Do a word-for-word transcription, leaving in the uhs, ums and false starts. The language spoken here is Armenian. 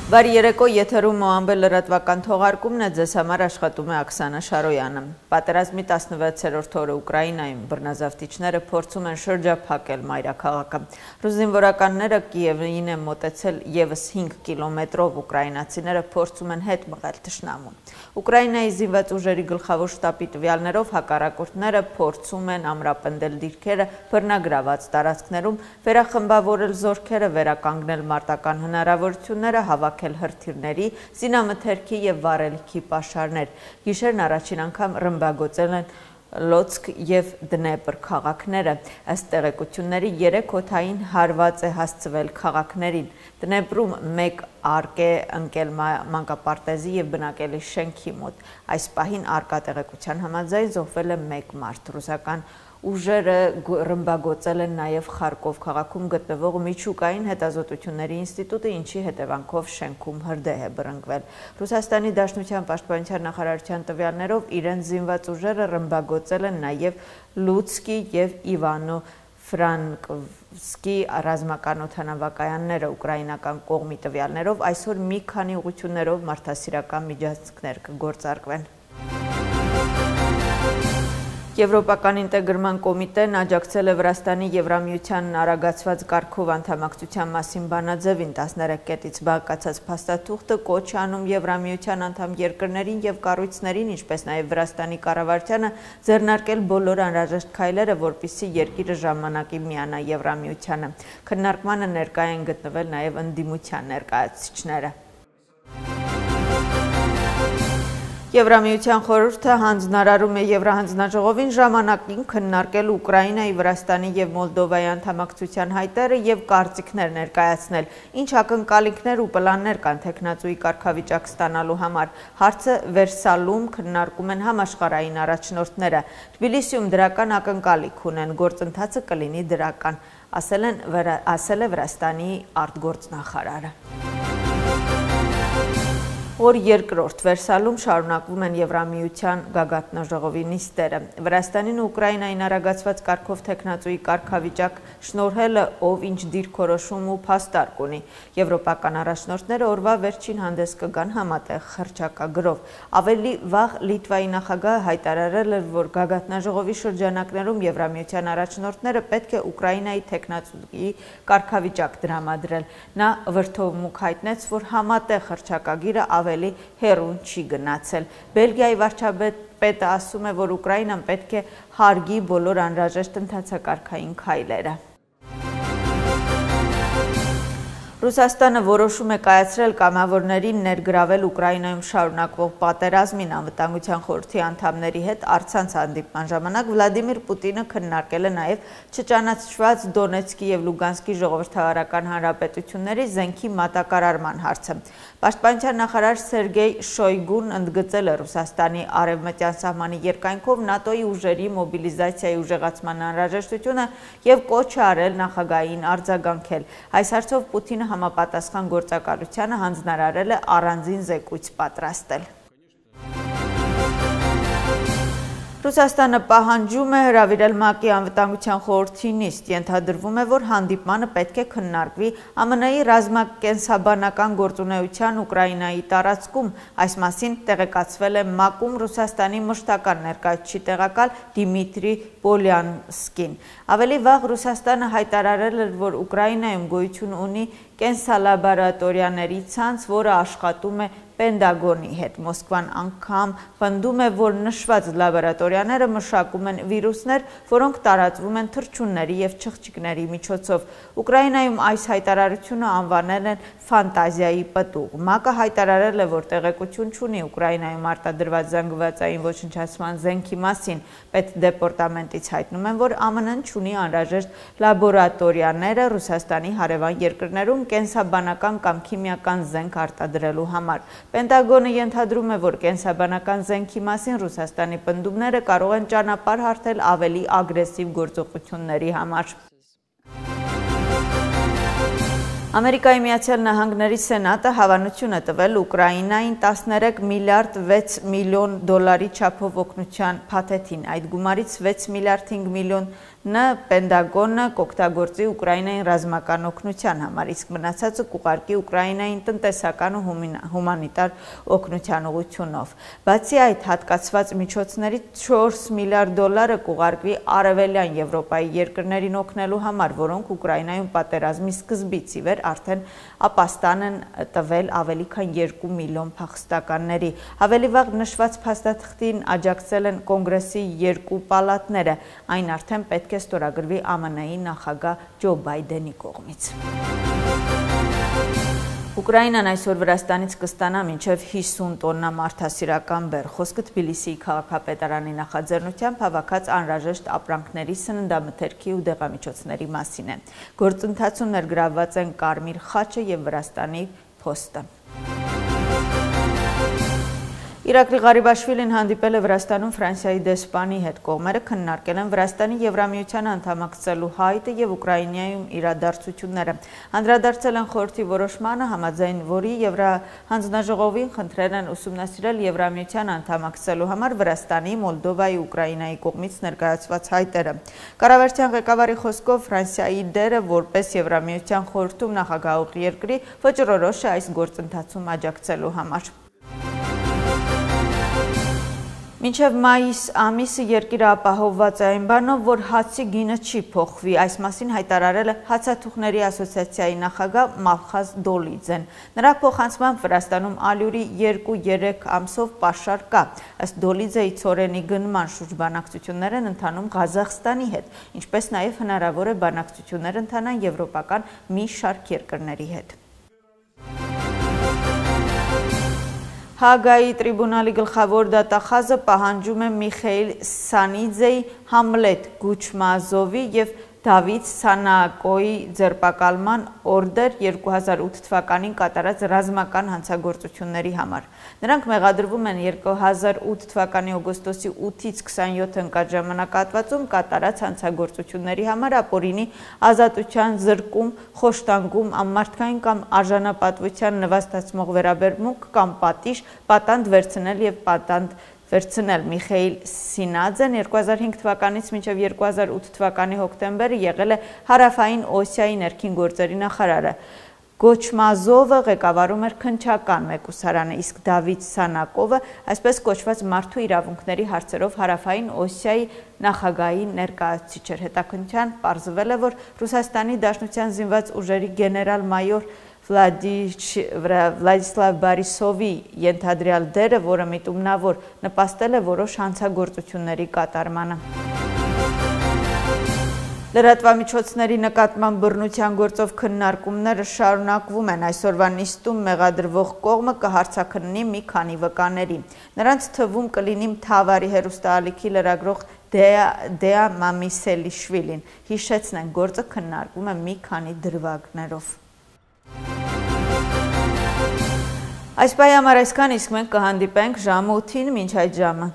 Բարի երեկո, եթերում Մոամբել լրատվական թողարկումն է, ձեզ համար աշխատում է Աքսանա Շարոյանը։ Պատերազմի տասնվեցերորդ օրը Ուկրաինայում բռնազավթիչները փորձում են շրջափակել մայրաքաղաքը։ Ռուս զինվորականները Կիևին են մոտեցել ևս հինգ կիլոմետրով, ուկրաինացիները փորձում են հետ մղել թշնամուն։ Ուկրաինայի զինված ուժերի գլխավոր շտաբի տվյալներով հակառակորդները փորձում են ամրապնդել դիրքերը բռնագրաված տարածքներում, վերախմբավորել զորքերը, վերականգնել մարտական հնարավորությունները, հավաքել հրթիռների, զինամթերքի և վառելիքի պաշարներ։ Գիշերն առաջին անգամ ռմբագործել են Լոցկ և Դնեպր քաղաքները։ Ըստ տեղեկությունների երեք օդային հարված է հասցվել քաղաքներին։ Դնեպրում մեկ արկ է ընկել մանկապարտեզի և բնակելի շենքի մոտ։ Այս պահին առկա տեղեկության համաձայն զոհվել է մեկ մարդ։ Ռուսական ուժերը ռմբագործել են նաև Խարկով քաղաքում գտնվող միջուկային հետազոտությունների ինստիտուտը, ինչի հետևանքով շենքում հրդեհ է բռնկվել։ Ռուսաստանի Դաշնության պաշտպանության նախարարության տվյալներով իրենց զինված ուժերը ռմբագործել են նաև Լուցկի և Իվանո Ֆրանկվսկի ռազմական օդանավակայանները։ Ուկրաինական կողմի տվյալներով այսօր մի քանի ուղղություններով մարդասիրական միջոցներ կգործարկվեն։ Եվրոպական ինտեգրման կոմիտեն աջակցել է Վրաստանի Եվրամիության արագացված կարգով անդամակցության մասին բանաձևին։ տասներեք կետից բաղկացած փաստաթուղթը կոչ է անում Եվրամիության անդամ երկրներին և կառույցներին, ինչպես նաև Վրաստանի կառավարությանը ձեռնարկել բոլոր անհրաժեշտ քայլերը, որպեսզի երկիրը ժամանակին միանա Եվրամիությանը։ Քննարկմանը ներկա են գտնվել նաև ընդդիմության ներկայացուցիչները։ Եվրամիության խորհուրդը հանձնարարում է Եվրահանձնաժողովին ժամանակին քննարկել Ուկրաինայի, Վրաստանի և Մոլդովայի անդամակցության հայտերը և կարծիքներ ներկայացնել, ինչ ակնկալիքներ ու պլաններ կան թեկնածուի կարգավիճակ ստանալու համար։ Հարցը վերսալում քննարկում են համաշխարհային առաջնորդները։ Թբիլիսիում դրական ակնկալիք ունեն, գործընթացը կլինի դրական, ասել է Վրաստանի արտգործնախարարը։ Օր երկրորդ Վերսալում շարունակվում են Եվրամիության գագաթնաժողովի նիստերը։ Վրաստանին ու Ուկրաինային արագացված կարգով թեկնածուի կարգավիճակ շնորհելը ով ինչ դիրքորոշում ու փաստարկ ունի։ Եվրոպական առաջնորդները օրվա վերջին հանդես կգան համատեղ հռչակագրով։ Ավելի վաղ Լիտվայի նախագահը հայտարարել էր, որ գագաթնաժողովի շրջանակներում Եվրամիության առաջնորդները պետք է Ուկրաինայի թեկնածուի կարգավիճակ տրամադրել։ Նա վրդովմունք հայտնեց, որ համատեղ հռչակագիրը ավելի հեռուն չի գնացել։ Բելգիայի վարչապետը ասում է, որ Ուկրաինան պետք է հարգի բոլոր անհրաժեշտ ընթացակարգային քայլերը։ Ռուսաստանը որոշում է կայացրել կամավորներին ներգրավել Ուկրաինայում շարունակվող պատերազմին։ Անվտանգության խորհրդի անդամների հետ առցանց հանդիպման ժամանակ Վլադիմիր Պուտինը քննարկել է նաև չճանաչված Դոնեցկի և Լուգանսկի ժողովրդավարական հանրապետությունների զենքի մատակարարման հարցը։ Պաշտպանության նախարար Սերգեյ Շոյգուն ընդգծել է Ռուսաստանի արևմտյան սահմանի երկայնքով ՆԱՏՕ-ի ուժերի մոբիլիզացիայի ուժեղացման անհրաժեշտությունը և կոչ է արել նախագահային արձագանքել։ Այս հարցով Պուտինը համապատասխան գործակալությանը հանձնարարել է առանձին զեկույց պատրաստել։ Ռուսաստանը պահանջում է հրավիրել ՄԱԿ-ի անվտանգության խորհրդի նիստ։ Ենթադրվում է, որ հանդիպմանը պետք է քննարկվի ԱՄՆ-ի ռազմակենսաբանական գործունեության Ուկրաինայի տարածքում։ Այս մասին տեղեկացվել է ՄԱԿ-ում Ռուսաստանի մշտական ներկայացուցիչ տեղակալ Դիմիտրի Պոլյանսկին։ Ավելի վաղ Ռուսաստանը հայտարարել էր, որ Ուկրաինայում գոյություն ունի կենսալաբորատորիաների ցանց, որը աշխատում է Պենտագոնի հետ։ Մոսկվան անգամ պնդում է, որ նշված լաբորատորիաները մշակում են վիրուսներ, որոնք տարածվում են թռչունների և չղջիկների միջոցով։ Ուկրաինայում այս հայտարարությունը անվանել են ֆանտազիայի պտուղ։ ՄԱԿ-ը հայտարարել է, որ տեղեկություն չունի Ուկրաինայում արտադրված զանգվածային ոչնչացման զենքի մասին։ Պետդեպարտամենտից հայտնում են, որ ԱՄՆ-ն չունի անհրաժեշտ լաբորատորիաները Ռուսաստանի հարևան երկրներում կենսաբանական կամ քիմիական զենք արտադրելու համար։ Պենտագոնը ենթադրում է, որ կենսաբանական զենքի մասին Ռուսաստանի պնդումները կարող են ճանապարհ հարթել ավելի ագրեսիվ գործողությունների համար։ Ամերիկայի Միացյալ Նահանգների Սենատը հավանություն է տվել Ուկրաինային տասներեք միլիարդ վեց միլիոն դոլարի չափով օգնության փաթեթին։ Այդ գումարից վեց միլիարդ հինգ միլիոն Ն Պենտագոնը կօգտագործի Ուկրաինային ռազմական օգնության համար, իսկ մնացածը կուղարկի Ուկրաինային տնտեսական ու հումանիտար օգնության ուղղությունով։ Բացի այդ, հատկացված միջոցների չորս միլիարդ դոլարը կուղարկվի Արևելյան Եվրոպայի երկրներին օգնելու համար, որոնք Ուկրաինայում պատերազմի սկզբից ի վեր արդեն ապաստան են տվել ավելի քան երկու միլիոն փախստականների։ Ավելի վաղ նշված փաստաթղթին աջակցել են Կոնգրեսի երկու պալատները, այն արդեն պետք է ստորագրվի Ամն Ի նախագահ Ջո Բայդենի կողմից։ Ուկրաինան այսօր Վրաստանից կստանա մինչև հիսուն տոննա մարդասիրական բեռ։ Խոսքը Թբիլիսիի քաղաքապետարանի նախաձեռնությամբ հավաքած անհրաժեշտ ապրանքների, սննդամթերքի ու դեղամիջոցների մասին է։ Գործընթացում ներգրավված են Կարմիր խաչը և Վրաստանի փոստը։ Իրակլի Ղարիբաշվիլին հանդիպել է Վրաստանում Ֆրանսիայի դեսպանի հետ, կողմերը քննարկել են Վրաստանի Եվրամիությանը անդամակցելու հայտը և Ուկրաինայում իրադարձությունները։ Անդրադարձել են խորհրդի որոշմանը, համաձայն որի Եվրահանձնաժողովին խնդրել են ուսումնասիրել Եվրամիության անդամակցելու համար Վրաստանի, Մոլդովայի, Ուկրաինայի կողմից ներկայացված հայտերը։ Կառավարության ղեկավարի խոսքով Ֆրանսիայի դերը որպես Եվրամիության խորհրդում նախագահող երկրի ոճռորոշ է այս գործընթացում աջակցելու համար։ Մինչև մայիս ամիսը երկիրը ապահովված է այն բանով, որ հացի գինը չի փոխվի, այս մասին հայտարարել է Հացաթուխների ասոցիացիայի նախագահ Մալխազ Դոլիձեն։ Նրա փոխանցմամբ Վրաստանում ալյուրի երկու-երեք ամսով պաշար կա։ Ըստ Դոլիձեի ցորենի գնման շուրջ բանակցություններ են ընթանում Ղազախստանի հետ, ինչպես նաև հնարավոր է բանակցություններ ընթանան եվրոպական մի շարք երկրների հետ։ Հագայի տրիբունալի գլխավոր դատախազը պահանջում է Միխեիլ Սանիձեի, Համլետ Գուչմազովի և Դավիթ Սանակոյի ձերբակալման օրդեր երկու հազար ութ թվականին կատարած ռազմական հանցագործությունների համար։ Նրանք մեղադրվում են երկու հազար ութ թվականի օգոստոսի ութից քսանյոթ ընկած ժամանակահատվածում կատարած հանցագործությունների համար ապօրինի ազատության զրկում, խոշտանգում, անմարդկային կամ արժանապատվության նվաստացնող վերաբերմունք կամ պատիժ, պատանդ վերցնել և պատանդ վերցնել։ Միխեիլ Սինաձեն երկու հազար հինգ թվականից մինչև երկու հազար ութ թվականի հոկտեմբերը եղել է Հարավային Օսիայի ներքին գործերի նախարարը։ Գոչմազովը ղեկավարում էր քննչական մեկուսարանը, իսկ Դավիթ Սանակովը այսպես կոչված մարդու իրավունքների հարցերով Հարավային Օսիայի նախագահի ներկայացուցիչ էր։ Հետաքննության պարզվել է, որ Ռուսաստանի Դաշնության զինված ուժերի գեներալ-մայոր Վլադիսլավ Բարիսովի ենթադրյալ դերը, որը միտումնավոր նպաստել է որոշ հանցագործությունների կատարմանը։ Լրատվամիջոցների նկատմամբ բռնության գործով քննարկումները շարունակվում են։ Այսօրվա նիստում մեղադրվող կողմը կհարցաքննի մի քանի վկաների։ Նրանց թվում կլինի Թավարի հեռուստաալիքի լրագրող Դեա Մամիսելիշվիլին։ Հիշեցնենք, գործը քննարկվում է մի քանի դրվագներով։ Այս պահի համար այսքան, իսկ մենք կհանդիպենք ժամը ութին, մինչ այդ ժամը։